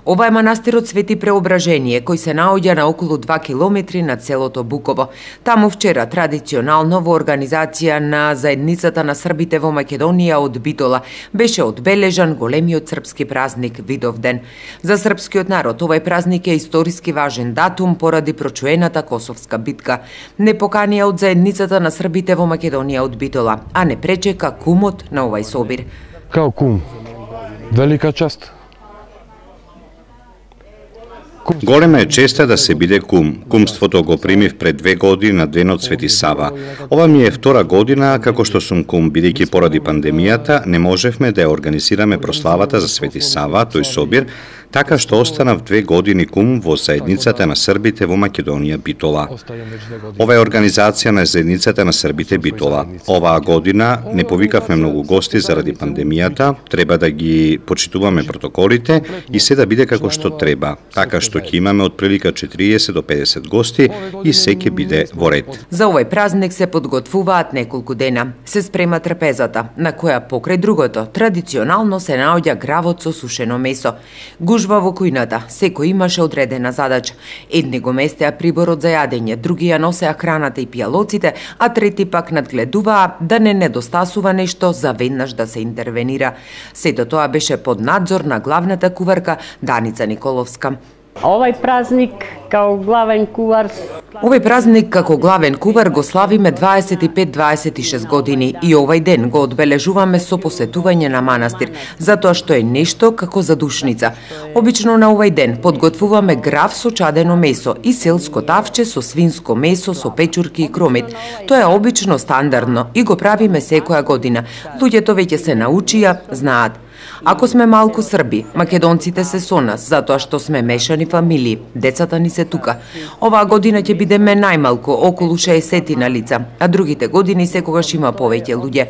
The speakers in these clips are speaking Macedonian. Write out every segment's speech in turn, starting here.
Ова е манастирот Свети Преображение, кој се наоѓа на околу 2 километри над селото Буково. Таму вчера традиционално во организација на заедницата на србите во Македонија од Битола беше одбележан големиот српски празник Видовден. За српскиот народ овој празник е историски важен датум поради прочуената Косовска битка. Не поканија од заедницата на србите во Македонија од Битола, а не пречека кумот на овај собир. Као кум, велика чест. Голема е честа да се биде кум. Кумството го примив пред 2 години на денот Свети Сава. Ова ми е втора година како што сум кум, бидејќи поради пандемијата не можевме да ја организираме прославата за Свети Сава, тој собир, така што останав 2 години кум во заедницата на србите во Македонија Битола. Ова е организација на заедницата на србите Битола. Оваа година не повикавме многу гости заради пандемијата, треба да ги почитуваме протоколите и се да биде како што треба, така што ќе имаме од прилика 40 до 50 гости и се ќе биде во ред. За овој празник се подготвуваат неколку дена. Се спрема трпезата, на која покрај другото традиционално се наоѓа гравот со сушено месо. Гужва во кујната, секој имаше одредена задача. Едни го местеа приборот за јадење, други ја носеа храната и пијалоците, а трети пак надгледуваа да не недостасува нешто за веднаш да се интервенира. Сето тоа беше под надзор на главната куварка Даница Николовска. Овој празник како главен кувар го славиме 25-26 години и овај ден го одбележуваме со посетување на манастир, затоа што е нешто како задушница. Обично на овај ден подготвуваме грав со чадено месо и селско тавче со свинско месо со печурки и кромит. Тоа е обично стандардно и го правиме секоја година. Луѓето веќе се научија, знаат. Ако сме малку срби, македонците се со нас, затоа што сме мешани фамилии, децата ни се тука. Оваа година ќе бидеме најмалку, околу 60 на лица, а другите години секогаш има повеќе луѓе.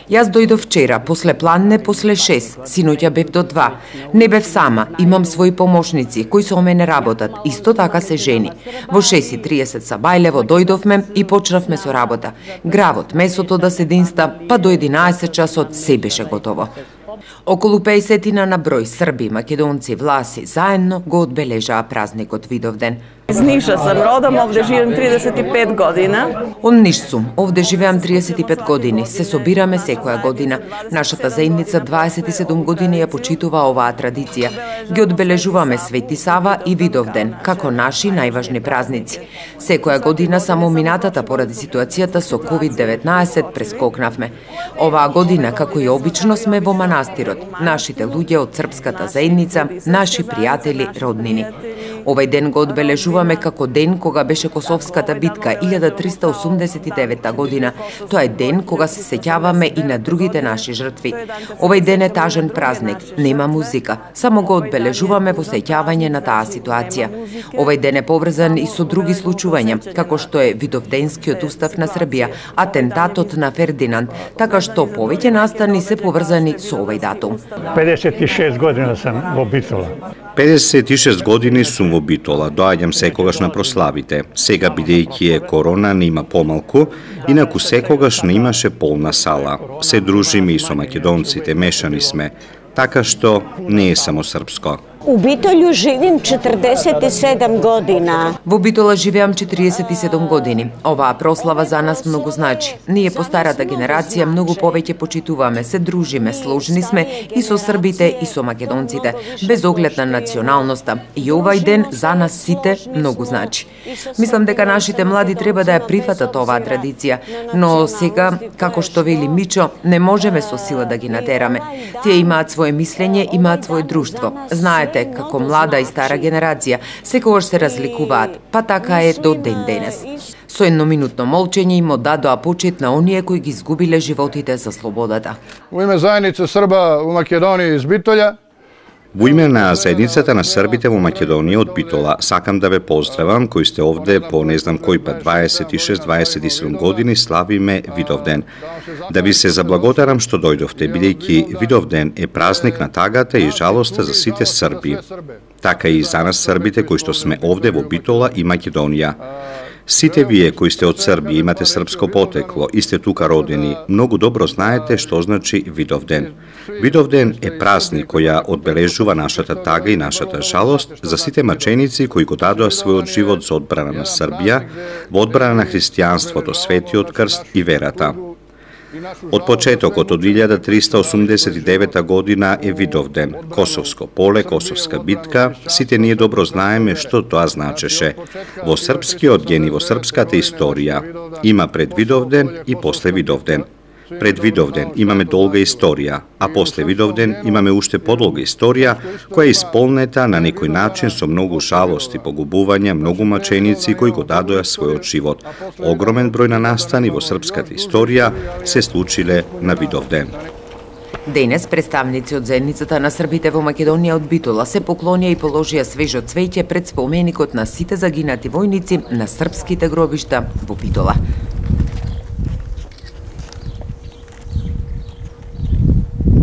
Јас дојдов вчера, после пладне, после 6, синоќа бев до 2. Не бев сама, имам своји помошници, кои со мене работат, исто така се жени. Во 6:30 са Бајлево дојдовме и почнавме со работа. Гравот, месото да се динста, па до 11 часот се беше готово. Околу 50 на број срби, македонци, власи заедно го одбележаа празникот Видовден. Из Ниша сам родом, овде живеам 35 година. Од Ниш сум, овде живеам 35 години, се собираме секоја година. Нашата заедница 27 години ја почитува оваа традиција. Ги одбележуваме Свети Сава и Видовден, како наши најважни празници. Секоја година само минатата поради ситуацијата со COVID-19 прескокнавме. Оваа година, како и обично, сме во манастирот. Нашите луѓе од српската заедница, наши пријатели, роднини. Овај ден го одбележуваме како ден кога беше Косовската битка 1389 година. Тоа е ден кога се сеќаваме и на другите наши жртви. Овај ден е тажен празник, нема музика, само го одбележуваме во сеќавање на таа ситуација. Овај ден е поврзан и со други случувања, како што е Видовденскиот устав на Србија, атентатот на Фердинанд, така што повеќе настани се поврзани со овај датум. 56 година сам во Битола. 56 години сум во Битола, доаѓам секогаш на прославите. Сега, бидејќи е корона, не има помалку, инаку секогаш не имаше полна сала. Се дружиме и со македонците, мешани сме, така што не е само српско. У Битолју живим 47 година. Во Битола живеам 47 години. Оваа прослава за нас многу значи. Ние по старата генерација многу повеќе почитуваме, се дружиме, сложни сме и со србите и со македонците, без оглед на националноста. И овај ден за нас сите многу значи. Мислам дека нашите млади треба да ја прифатат оваа традиција, но сега, како што вели Мичо, не можеме со сила да ги натераме. Тие имаат свое мислење, имаат свое друштво. Знаете, како млада и стара генерација, секогаш се разликуваат, па така е до ден денес. Со едноминутно молчење им оддадоа почит на оние кои ги изгубиле животите за слободата. Во име заедница Срба во Македонија из Битолја, Во име на заедницата на србите во Македонија од Битола, сакам да ве поздравам кои сте овде по не знам кој пат 26-27 години славиме Видовден. Да ви се заблагодарам што дојдовте, бидејќи Видовден е празник на тагата и жалоста за сите срби. Така и за нас србите кои што сме овде во Битола и Македонија. Сите вие кои сте од Србија, имате српско потекло и сте тука родени, многу добро знаете што значи Видовден. Видовден е празник која одбележува нашата тага и нашата жалост за сите маченици кои го дадоа својот живот за одбрана на Србија, во одбрана на христијанството, светиот крст и верата. Од почетокот од 1389 година е Видовден, Косовско поле, Косовска битка, сите ние добро знаеме што тоа значеше. Во српскиот ген и во српската историја има пред Видовден и после Видовден. Пред Видовден имаме долга историја, а после Видовден имаме уште подолга историја, која е исполнета на некој начин со многу жалост и погубувања, многу маченици кои го дадоа својот живот. Огромен број на настани во српската историја се случиле на Видовден. Денес представници од заедницата на србите во Македонија од Битола се поклонија и положија свежо цвеќе пред споменикот на сите загинати војници на српските гробишта во Битола.